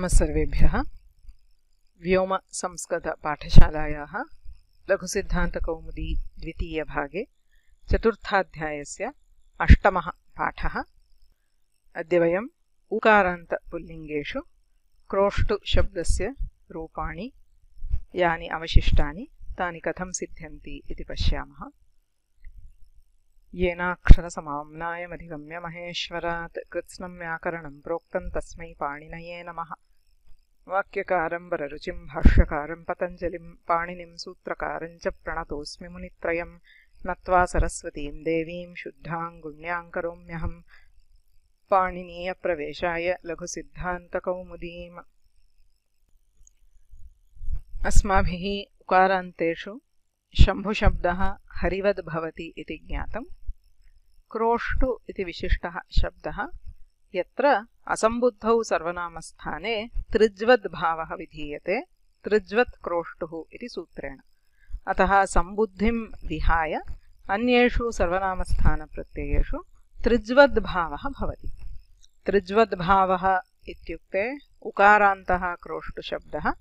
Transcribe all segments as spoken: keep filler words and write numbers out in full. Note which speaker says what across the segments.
Speaker 1: नमः सर्वेभ्यः। व्योम संस्कृत पाठशालायाः लघुसिद्धान्तकौमुदी द्वितीयभागे चतुर्थाध्यायस्य अष्टमः पाठः। अद्य वयम् उकारान्तपुल्लिङ्गेषु क्रोष्टु शब्दस्य रूपाणि यानि अवशिष्टानि तानि कथं सिद्ध्यन्ति इति पश्यामः। येनाक्षरसमाम्नायमधिगम्य महेश्वरात् कृत्स्नं व्याकरणं प्रोक्तं तस्मै पाणिनये नमः। वाक्यकारं वररुचिं भाष्यकारं पतञ्जलिं पाणिनिं सूत्रकारं च प्रणतोऽस्मि मुनित्रयं नत्वा सरस्वतीं देवीं शुद्धां गुण्यां करोम्यहं पाणिनीयप्रवेशाय लघुसिद्धान्तकौमुदीम्। अस्माभिः उकारान्तेषु शम्भुशब्दः हरिवद् भवति इति ज्ञातम्। क्रोष्टु इति विशिष्टः शब्दः यत्र असम्बुद्धौ सर्वनामस्थाने त्रिज्वद् भावः विधीयते त्रिज्वत् क्रोष्टुः इति सूत्रेण। अतः सम्बुद्धिं विहाय अन्येषु सर्वनामस्थानप्रत्ययेषु त्रिज्वद् भावः भवति। त्रिज्वद् भावः इत्युक्ते उकारान्तः क्रोष्टुशब्दः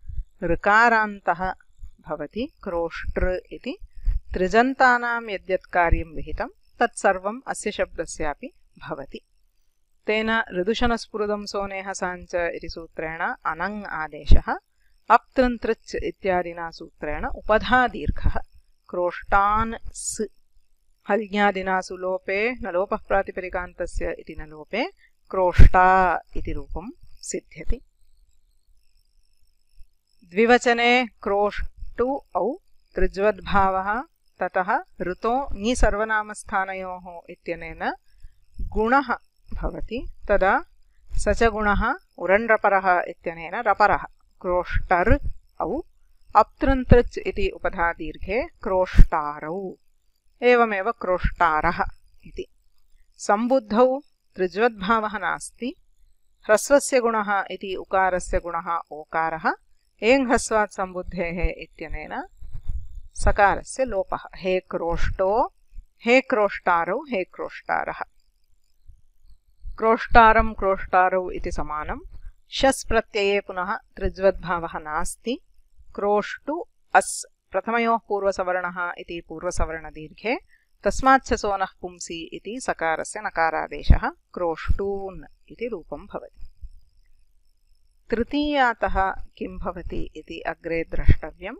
Speaker 1: ऋकारान्तः भवति क्रोष्ट्र इति। त्रिजन्तानां यद्यत् कार्यं विहितं तत्सर्वम् अस्य शब्दस्यापि भवति। तेन ऋदुशनस्फुरदं सोनेह साञ्च इति सूत्रेण अनङ् आदेशः, अप्तृन्तृच् इत्यादिना सूत्रेण उपधादीर्घः क्रोष्टान् स् हल्ज्ञादिना सुलोपे न लोपः प्रातिपदिकान्तस्य इति न लोपे क्रोष्टा इति रूपं सिद्ध्यति। द्विवचने क्रोष्टु औ त्रिज्वद्भावः ततः ऋतो ङि सर्वनामस्थानयोः इत्यनेन गुणः भवति। तदा स च गुणः उरण्रपरः इत्यनेन रपरः क्रोष्टर् औ अप्तृन्तृच् इति उपधादीर्घे क्रोष्टारौ एवमेव क्रोष्टारः इति। सम्बुद्धौ त्रिज्वद्भावः नास्ति। ह्रस्वस्य गुणः इति उकारस्य गुणः ओकारः एङ्घस्वात् सम्बुद्धेः इत्यनेन सकारस्य लोपः। हे क्रोष्टो हे क्रोष्टारौ हे क्रोष्टारः। क्रोष्टारं क्रोष्टारौ इति समानं। शस् प्रत्यये पुनः त्रिज्वद्भावः नास्ति। क्रोष्टु अस् प्रथमयोः पूर्वसवर्णः इति पूर्वसवर्णदीर्घे तस्माच्च सोनः पुंसि इति सकारस्य नकारादेशः क्रोष्टून् इति रूपं भवति। तृतीयातः किं भवति इति अग्रे द्रष्टव्यम्।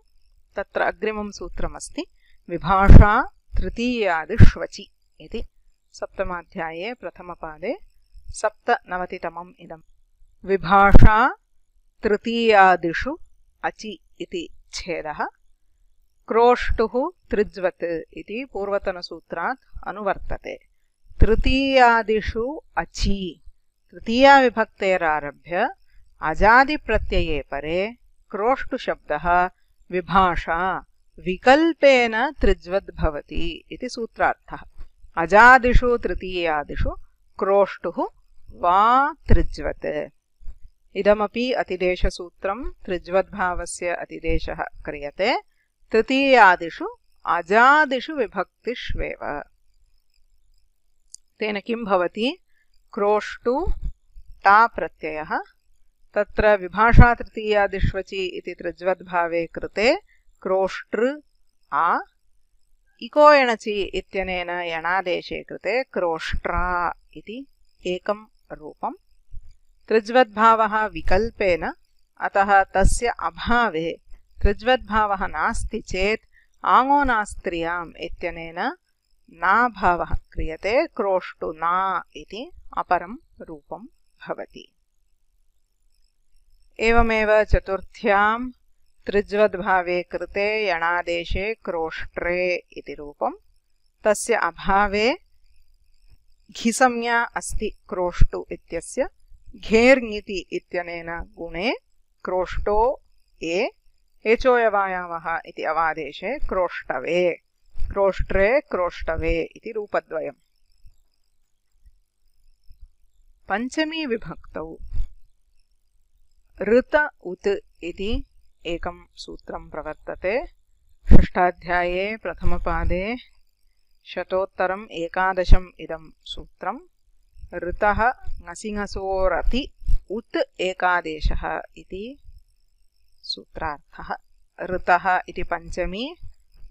Speaker 1: तत्र अग्रिमं सूत्रमस्ति विभाषा तृतीयादिष्वचि इति। सप्तमाध्याये प्रथमपादे सप्तनवतितमम् इदम्। विभाषा तृतीयादिषु अचि इति छेदः। क्रोष्टुः त्रिज्वत् इति पूर्वतनसूत्रात् अनुवर्तते। तृतीयादिषु अचि तृतीयाविभक्तेरारभ्य अजादिप्रत्यये परे क्रोष्टुशब्दः विभाषा विकल्पेन त्रिज्वद् भवति इति सूत्रार्थः। अजादिषु तृतीयादिषु क्रोष्टुः वा त्रिज्वत्। इदमपि अतिदेशसूत्रं। त्रिज्वद्भावस्य अतिदेशः क्रियते तृतीयादिषु अजादिषु विभक्तिष्वेव। तेन किं भवति? क्रोष्टु टा प्रत्ययः तत्र विभाषा तृतीयादिष्वचि इति त्रिज्वद्भावे कृते क्रोष्ट्र आ इको एणचि इत्यनेन यणादेशे कृते क्रोष्ट्रा इति एकं रूपम्। त्रिज्वद्भावः विकल्पेन, अतः तस्य अभावे त्रिज्वद्भावः नास्ति चेत् आङोनास्त्रियाम् इत्यनेन नाभावः क्रियते क्रोष्टुना इति अपरं रूपं भवति। एवमेव चतुर्थ्यां त्रिज्वद्भावे कृते यणादेशे क्रोष्ट्रे इति रूपं। तस्य अभावे घिसंज्ञा अस्ति क्रोष्टु इत्यस्य। घेर्ङिति इत्यनेन गुणे क्रोष्टो ए एचोयवायावः इति अवादेशे क्रोष्टवे क्रोष्ट्रे क्रोष्टवे इति रूपद्वयम्। पञ्चमी विभक्तौ ऋत उत् इति एकं सूत्रं प्रवर्तते। षष्ठाध्याये प्रथमपादे शतोत्तरम् एकादशम् इदं सूत्रम्। ऋतः ङसिङसोरति उत् एकादेशः इति सूत्रार्थः। ऋतः इति पञ्चमी,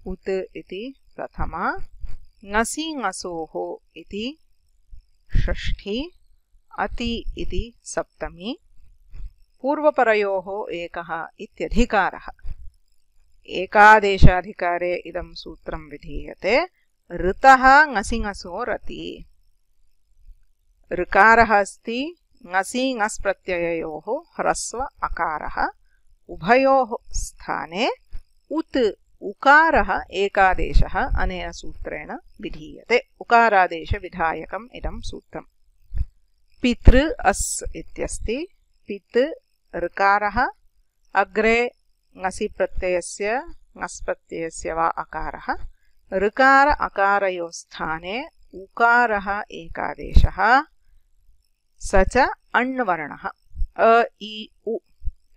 Speaker 1: उत् इति प्रथमा, ङसि ङसोः इति षष्ठी, अति इति सप्तमी, पूर्वपरयोः एकः इत्यधिकारः। एकादेशाधिकारे इदं सूत्रं विधीयते। ऋतः ङसि ङसो रति। ऋकारः अस्ति, ङसि ङस् प्रत्यययोः ह्रस्व अकारः, उभयोः स्थाने उत् उकारः एकादेशः अनेन सूत्रेण विधीयते। उकारादेशविधायकम् इदं सूत्रम्। पितृ अस् इत्यस्ति। पित् ऋकारः, अग्रे ङसि प्रत्ययस्य ङस् प्रत्ययस्य वा अकारः, ऋकार अकारयोः स्थाने उकारः एकादेशः, स च अण्वर्णः। अ इ उ।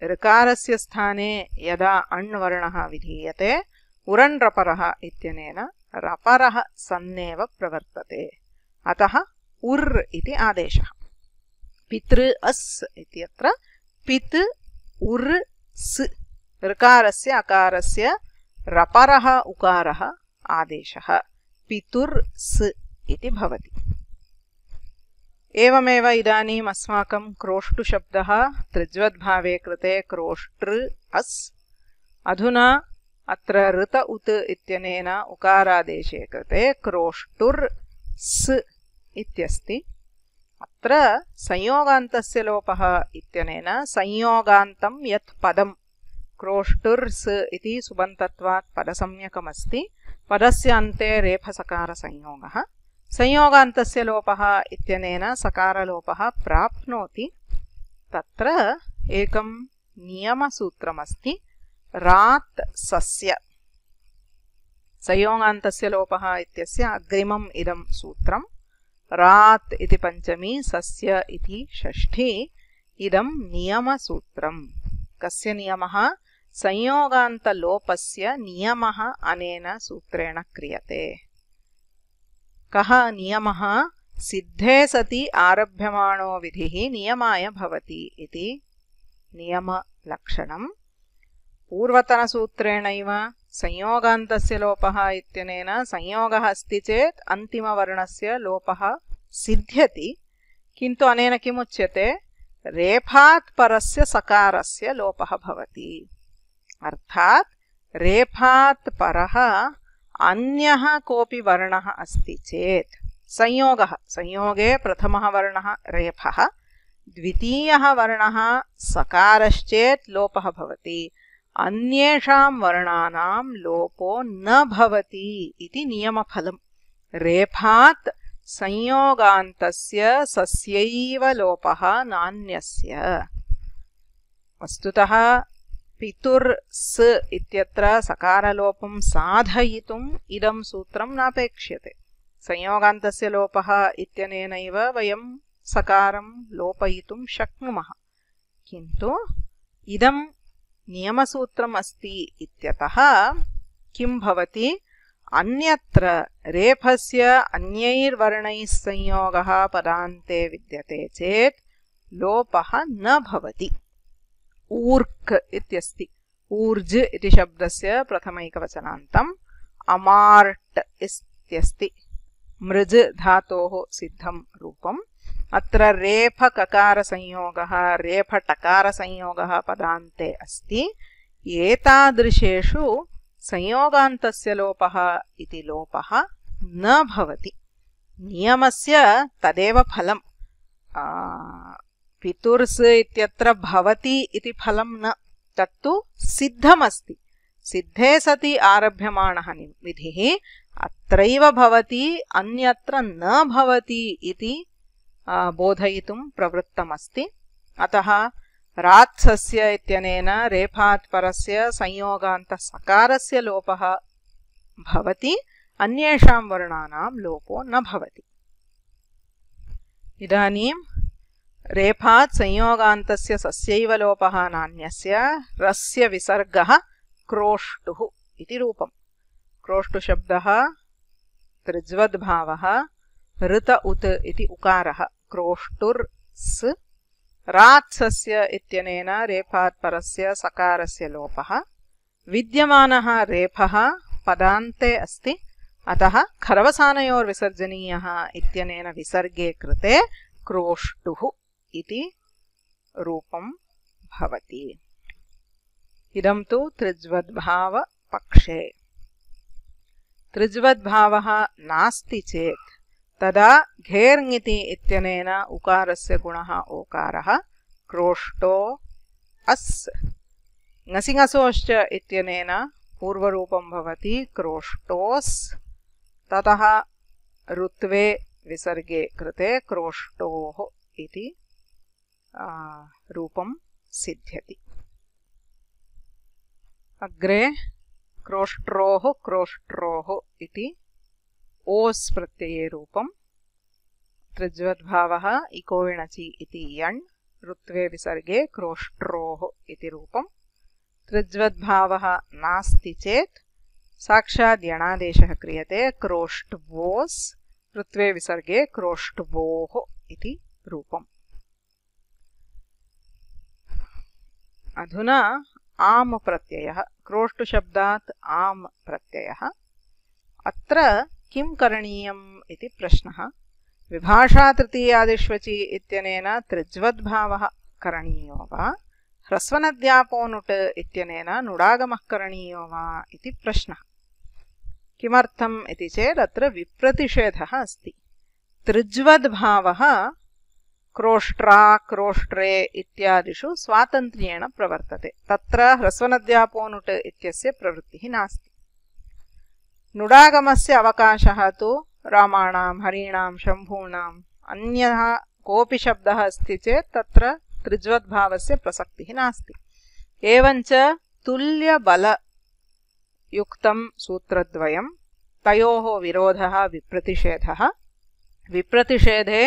Speaker 1: ऋकारस्य स्थाने यदा अण्वर्णः विधीयते उरण् रपरः इत्यनेन रपरः सन्नेव प्रवर्तते, अतः उर् इति आदेशः। पितृ अस् इत्यत्र पित् उर् स्। ऋकारस्य अकारस्य रपरः उकारः आदेशः, पितुर् स् इति भवति। एवमेव इदानीम् अस्माकं क्रोष्टुशब्दः त्रिज्वद्भावे कृते क्रोष्टृ अस्। अधुना अत्र ऋत उत् इत्यनेन उकारादेशे कृते क्रोष्टुर् स् इत्यस्ति। अत्र संयोगान्तस्य लोपः इत्यनेन संयोगान्तं यत् पदं क्रोष्टुर् स् इति सुबन्तत्वात् पदसंज्ञकमस्ति। पदस्य अन्ते रेफसकारसंयोगः। संयोगान्तस्य लोपः इत्यनेन सकारलोपः प्राप्नोति। तत्र एकं नियमसूत्रमस्ति, रात् सस्य। संयोगान्तस्य लोपः इत्यस्य अग्रिमम् इदं सूत्रं। रात् इति पञ्चमी, सस्य इति षष्ठी। इदं नियमसूत्रम्। कस्य नियमः? संयोगान्तलोपस्य नियमः अनेन सूत्रेण क्रियते। कः नियमः? सिद्धे सति आरभ्यमाणो विधिः नियमाय भवति इति नियमलक्षणम्। पूर्वतनसूत्रेणैव संयोगान्तस्य लोपः इत्यनेन संयोगः अस्ति चेत् अन्तिमवर्णस्य लोपः सिद्ध्यति, किन्तु अनेन किमुच्यते? रेफात् परस्य सकारस्य लोपः भवति। अर्थात् रेफात् परः अन्यः कोऽपि वर्णः अस्ति चेत् संयोगः, संयोगे प्रथमः वर्णः रेफः, द्वितीयः वर्णः सकारश्चेत् लोपः भवति, अन्येषां वर्णानां लोपो न भवति इति नियमफलम्। रेफात् संयोगान्तस्य सस्यैव लोपः नान्यस्य। वस्तुतः पितुर् स् इत्यत्र सकारलोपं साधयितुम् इदं सूत्रं नापेक्ष्यते। संयोगान्तस्य लोपः इत्यनेनैव वयं सकारं लोपयितुं शक्नुमः, किन्तु इदं नियमसूत्रम् अस्ति इत्यतः किं भवति? अन्यत्र रेफस्य अन्यैर्वर्णैः संयोगः पदान्ते विद्यते चेत् लोपः न भवति। ऊर्क् इत्यस्ति। ऊर्ज् इति शब्दस्य प्रथमैकवचनान्तम्। अमार्ट् इत्यस्ति। मृज् धातोः सिद्धं रूपम्। अत्र रेफककारसंयोगः रेफटकारसंयोगः पदान्ते अस्ति। एतादृशेषु संयोगान्तस्य लोपः इति लोपः न भवति। नियमस्य तदेव फलम्। पितुर्स् इत्यत्र भवति इति फलं न, तत्तु सिद्धमस्ति। सिद्धे सति आरभ्यमाणः विधिः अत्रैव भवति, अन्यत्र न भवति इति बोधयितुं प्रवृत्तमस्ति। अतः रात्सस्य इत्यनेन रेफात् परस्य संयोगान्तसकारस्य लोपः भवति, अन्येषां वर्णानां लोपो न भवति। इदानीं रेफात् संयोगान्तस्य सस्यैव लोपः नान्यस्य रस्य विसर्गः क्रोष्टुः इति रूपम्। क्रोष्टुशब्दः त्रिज्वद्भावः ऋत उत् इति उकारः क्रोष्टुर् स् रात्सस्य इत्यनेन रेफात् परस्य सकारस्य लोपः विद्यमानः रेफः पदान्ते अस्ति अतः खरवसानयोर्विसर्जनीयः इत्यनेन विसर्गे कृते क्रोष्टुः इति रूपं भवति। इदं तु त्रिज्वद्भावपक्षे। त्रिज्वद्भावः नास्ति चेत् तदा घेर्ङिति इत्यनेन उकारस्य गुणः ओकारः क्रोष्टो अस् ङसिङसोश्च इत्यनेन पूर्वरूपं भवति क्रोष्टोस् ततः ऋत्वे विसर्गे कृते क्रोष्टोः इति रूपं सिद्ध्यति। अग्रे क्रोष्ट्रोः क्रोष्ट्रोः इति ओस् प्रत्यये रूपं। त्रिज्वद्भावः इकोविणचि इति यण् ऋत्वे विसर्गे क्रोष्ट्रोः इति रूपं। त्रिज्वद्भावः नास्ति चेत् साक्षात् यणादेशः क्रियते क्रोष्ट्वोस् ऋत्वे विसर्गे क्रोष्ट्वोः इति रूपम्। अधुना आम् प्रत्ययः। क्रोष्टुशब्दात् आम् प्रत्ययः। अत्र किं करणीयम् इति प्रश्नः। विभाषा तृतीयादिष्वचि इत्यनेन त्रिज्वद्भावः करणीयो वा ह्रस्वनद्यापोनुट् इत्यनेन नुडागमः करणीयो वा इति प्रश्नः। किमर्थम् इति चेत् अत्र विप्रतिषेधः अस्ति। त्रिज्वद्भावः क्रोष्ट्रा क्रोष्ट्रे इत्यादिषु स्वातन्त्र्येण प्रवर्तते। तत्र ह्रस्वनद्यापोनुट् इत्यस्य प्रवृत्तिः नास्ति। नुडागमस्य अवकाशः तु रामाणां हरीणां शम्भूणाम् अन्यः कोऽपि शब्दः अस्ति चेत् तत्र त्रिज्वद्भावस्य प्रसक्तिः नास्ति। एवञ्च तुल्यबलयुक्तं सूत्रद्वयं तयोः विरोधः विप्रतिषेधः। विप्रतिषेधे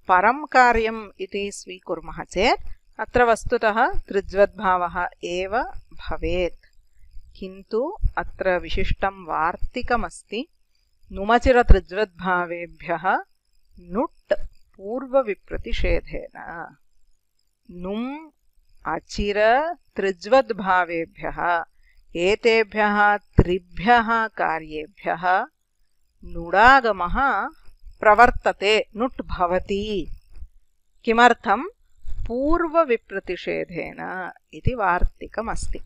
Speaker 1: परं कार्यम् इति स्वीकुर्मः चेत् अत्र वस्तुतः त्रिज्वद्भावः एव भवेत्। किन्तु अत्र विशिष्टं वार्तिकमस्ति। नुमचिरत्रिज्वद्भावेभ्यः नुट् पूर्वविप्रतिषेधेन। नुम् अचिर त्रिज्वद्भावेभ्यः एतेभ्यः त्रिभ्यः कार्येभ्यः नुडागमः प्रवर्तते नुट् भवति। किमर्थं पूर्वविप्रतिषेधेन इति वार्तिकमस्ति।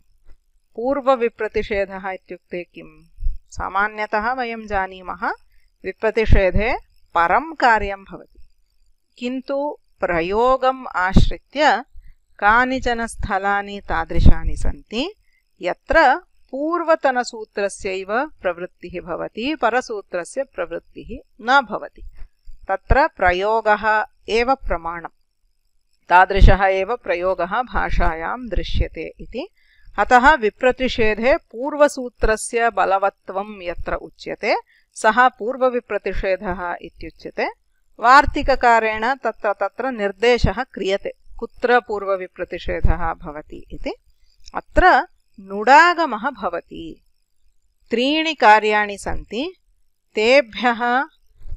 Speaker 1: पूर्वविप्रतिषेधः इत्युक्ते किं? सामान्यतः वयं जानीमः विप्रतिषेधे परं कार्यं भवति। किन्तु प्रयोगम् आश्रित्य कानिचन स्थलानि तादृशानि सन्ति यत्र पूर्वतनसूत्रस्यैव प्रवृत्तिः भवति, परसूत्रस्य प्रवृत्तिः न भवति। तत्र प्रयोगः एव प्रमाणम्। तादृशः एव प्रयोगः भाषायां दृश्यते इति। अतः विप्रतिषेधे पूर्वसूत्रस्य बलवत्वं यत्र उच्यते सः पूर्वविप्रतिषेधः इत्युच्यते। वार्तिककारेण तत्र तत्र निर्देशः क्रियते कुत्र पूर्वविप्रतिषेधः भवति इति। अत्र नुडागमः भवति। त्रीणि कार्याणि सन्ति। तेभ्यः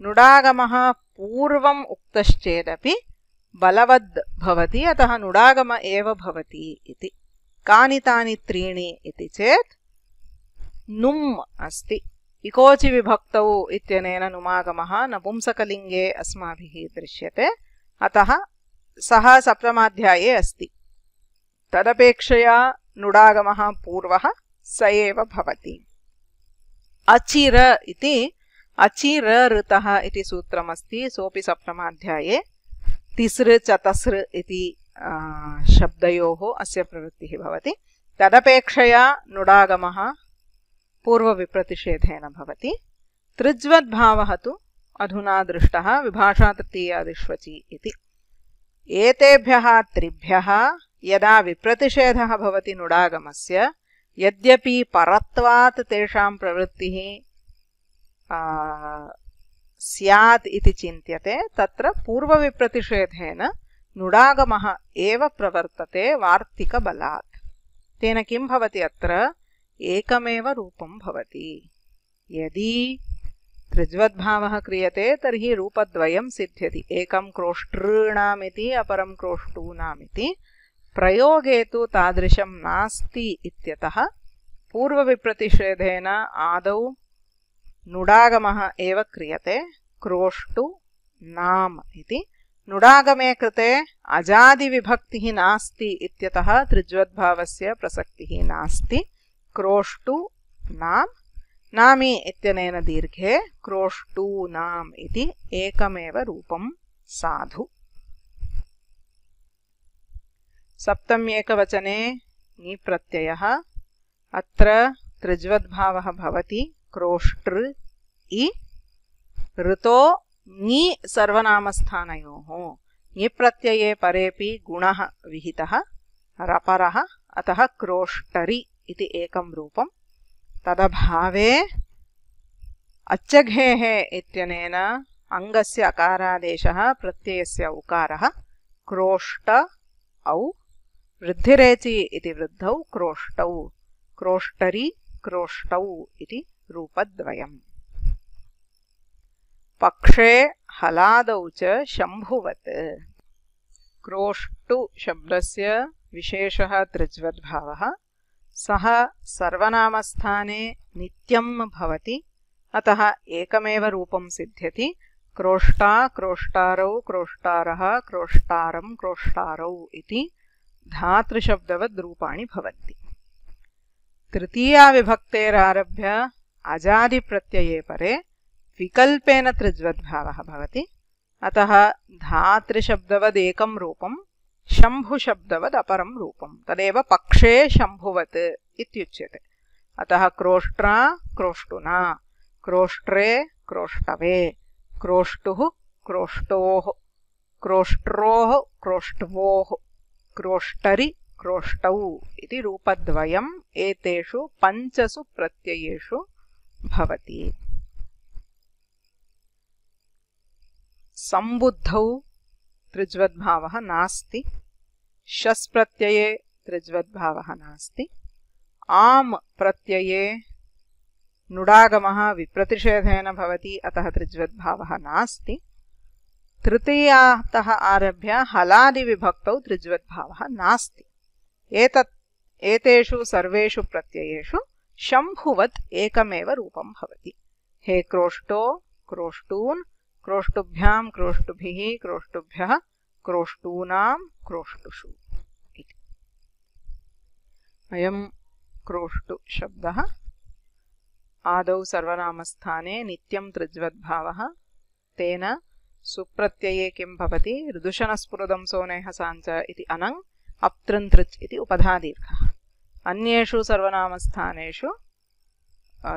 Speaker 1: नुडागमः पूर्वम् उक्तश्चेदपि बलवद् भवति। अतः नुडागम एव भवति इति। कानि तानि त्रीणि इति चेत् नुम् अस्ति। इकोचि विभक्तौ इत्यनेन नुमागमः नपुंसकलिङ्गे अस्माभिः दृश्यते। अतः सः सप्तमाध्याये अस्ति। तदपेक्षया नुडागमः पूर्वः स एव भवति। अचिर इति अचिर ऋतः इति सूत्रमस्ति। सोऽपि सप्तमाध्याये तिसृ चतसृ इति शब्दयोः अस्य प्रवृत्तिः भवति। तदपेक्षया नुडागमः पूर्वविप्रतिषेधेन भवति। त्रिज्वद्भावः तु अधुना दृष्टः विभाषा तृतीयादिष्वचि इति। एतेभ्यः त्रिभ्यः यदा विप्रतिषेधः भवति नुडागमस्य, यद्यपि परत्वात् तेषां प्रवृत्तिः स्यात् इति चिन्त्यते, तत्र पूर्वविप्रतिषेधेन नुडागमः एव प्रवर्तते वार्तिकबलात्। तेन किं भवति? अत्र एकमेव रूपं भवति। यदि त्रिज्वद्भावः क्रियते तर्हि रूपद्वयं सिद्ध्यति, एकं क्रोष्टॄणामिति अपरं क्रोष्टूनामिति। प्रयोगे तु तादृशं नास्ति इत्यतः पूर्वविप्रतिषेधेन आदौ नुडागमः एव क्रियते, क्रोष्टु नाम इति। नुडागमे कृते अजादिविभक्तिः नास्ति इत्यतः त्रिज्वद्भावस्य प्रसक्तिः नास्ति। क्रोष्टु नाम, नामी इत्यनेन दीर्घे क्रोष्टूनाम् इति एकमेव रूपं साधु। सप्तम्येकवचने ङि प्रत्ययः, अत्र त्रिज्वद्भावः भवति क्रोष्टृ इ। ऋतो ङि सर्वनामस्थानयोः, ङि प्रत्यये परेपि गुणः विहितः रपरः, अतः क्रोष्टरि इति एकं रूपं। तदभावे अच्चघेः इत्यनेन अङ्गस्य अकारादेशः प्रत्ययस्य उकारः, क्रोष्ट औ। वृद्धिरेचि इति वृद्धौ क्रोष्टौ, क्रोष्टरि क्रोष्टौ इति रूपद्वयम्। पक्षे हलादौ च शम्भुवत्। क्रोष्टु शब्दस्य विशेषः त्रिज्वद्भावः। सः सर्वनामस्थाने नित्यं भवति, अतः एकमेव रूपं सिद्ध्यति। क्रोष्टा क्रोष्टारौ क्रोष्टारः क्रोष्टारं क्रोष्टारौ इति धातृशब्दवद् रूपाणि भवन्ति। तृतीया विभक्तेरारभ्य अजादिप्रत्यये परे विकल्पेन त्रिज्वद्भावः भवति, अतः धातृशब्दवदेकं रूपं शम्भुशब्दवद् अपरं रूपं, तदेव पक्षे शम्भुवत् इत्युच्यते। अतः क्रोष्ट्रा क्रोष्टुना, क्रोष्ट्रे क्रोष्टवे, क्रोष्टुः क्रोष्टोः, क्रोष्ट्रोः क्रोष्ट्वोः, क्रोष्टरि क्रोष्टौ इति रूपद्वयम् एतेषु पञ्चसु प्रत्ययेषु भवति। सम्बुद्धौ त्रिज्वद्भावः नास्ति, शस् प्रत्यये त्रिज्वद्भावः नास्ति। आम् प्रत्यये नुडागमः विप्रतिषेधेन भवति, अतः त्रिज्वद्भावः नास्ति। तृतीयातः आरभ्य हलादिविभक्तौ त्रिज्वद्भावः नास्ति। एतत् एतेषु सर्वेषु प्रत्ययेषु शम्भुवत् एकमेव रूपं भवति। हे क्रोष्टो क्रोष्टून्, क्रोष्टुभ्यां क्रोष्टुभिः क्रोष्टुभ्यः, क्रोष्टूनां क्रोष्टुषु इति। अयं क्रोष्टु शब्दः आदौ सर्वनामस्थाने नित्यं त्रिज्वद्भावः, तेन सुप्रत्यये किं भवति, ऋदुशनस्फुरदं सोनेह साञ्च इति अनङ् अप्तृन्तृच् इति उपधादीर्घः। अन्येषु सर्वनामस्थानेषु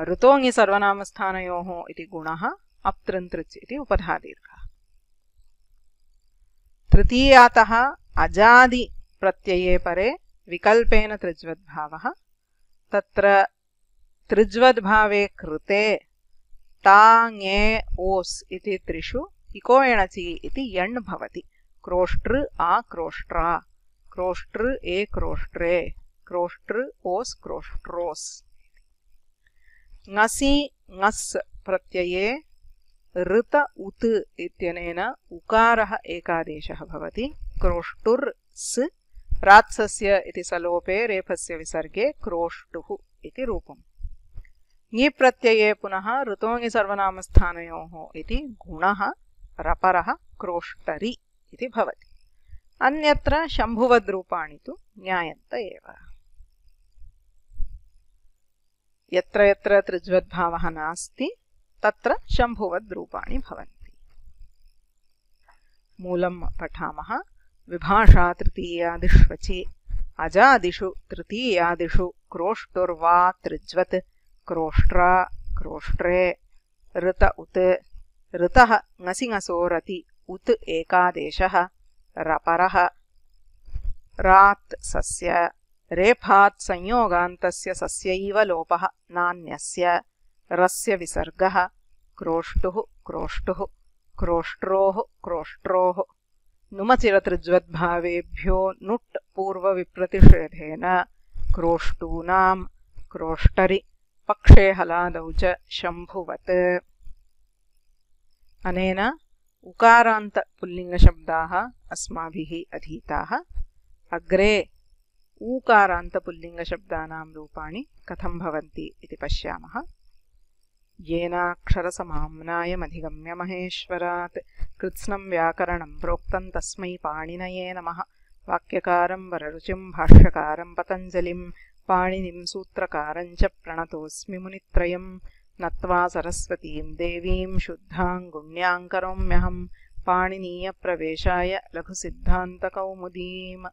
Speaker 1: ऋतोङि सर्वनामस्थानयोः इति गुणः अप्तृन्तृच् इति उपधादीर्घः। तृतीयातः अजादि प्रत्यये परे विकल्पेन त्रिज्वद्भावः। तत्र त्रिज्वद्भावे कृते ता ङे ओस् इति त्रिषु इको एणचि इति यण् भवति। क्रोष्ट्र आ क्रोष्ट्रा, क्रोष्ट्र ए क्रोष्ट्रे, क्रोष्ट्र ओस् क्रोष्ट्रोस्। ङसि ङस् प्रत्यये ऋत उत् इत्यनेन उकारः एकादेशः भवति। क्रोष्टुर् स्, रात्सस्य इति सलोपे रेफस्य विसर्गे क्रोष्टुः इति रूपम्। ङि प्रत्यये पुनः ऋतोङि सर्वनामस्थानयोः इति गुणः रपरः क्रोष्टरि इति भवति। अन्यत्र शम्भुवद्रूपाणि तु ज्ञायन्त एव। यत्र यत्र त्रिज्वद्भावः नास्ति तत्र शम्भुवद्रूपाणि भवन्ति। मूलं पठामः। विभाषा तृतीयादिष्वचि अजादिषु तृतीयादिषु क्रोष्टुर्वा त्रिज्वत्, क्रोष्ट्रा क्रोष्ट्रे, ऋत उत्, ऋतः ङसि ङसो रति उत् एकादेशः, रपरः, रात् सस्य, रेफात् संयोगान्तस्य सस्यैव लोपः नान्यस्य, रस्य विसर्गः, क्रोष्टुः क्रोष्टुः, क्रोष्ट्रोः क्रोष्ट्रोः। नुमचिरत्रिज्वद्भावेभ्यो नुट् पूर्वविप्रतिषेधेन क्रोष्टूनां क्रोष्टरि, पक्षे हलादौ च शम्भुवत्। अनेन उकारान्त पुल्लिङ्गशब्दाः अस्माभिः अधीताः। अग्रे ऊकारान्त पुल्लिङ्गशब्दानां रूपाणि कथं भवन्ति इति पश्यामः। येनाक्षरसमाम्नायमधिगम्य महेश्वरात् कृत्स्नं व्याकरणं प्रोक्तं तस्मै पाणिनये नमः। वाक्यकारं वररुचिं भाष्यकारं पतञ्जलिं पाणिनिं सूत्रकारं च प्रणतोऽस्मि मुनित्रयं। नत्वा सरस्वतीं देवीं शुद्धां गुण्यां करोम्यहं पाणिनीयप्रवेशाय लघुसिद्धान्तकौमुदीम्।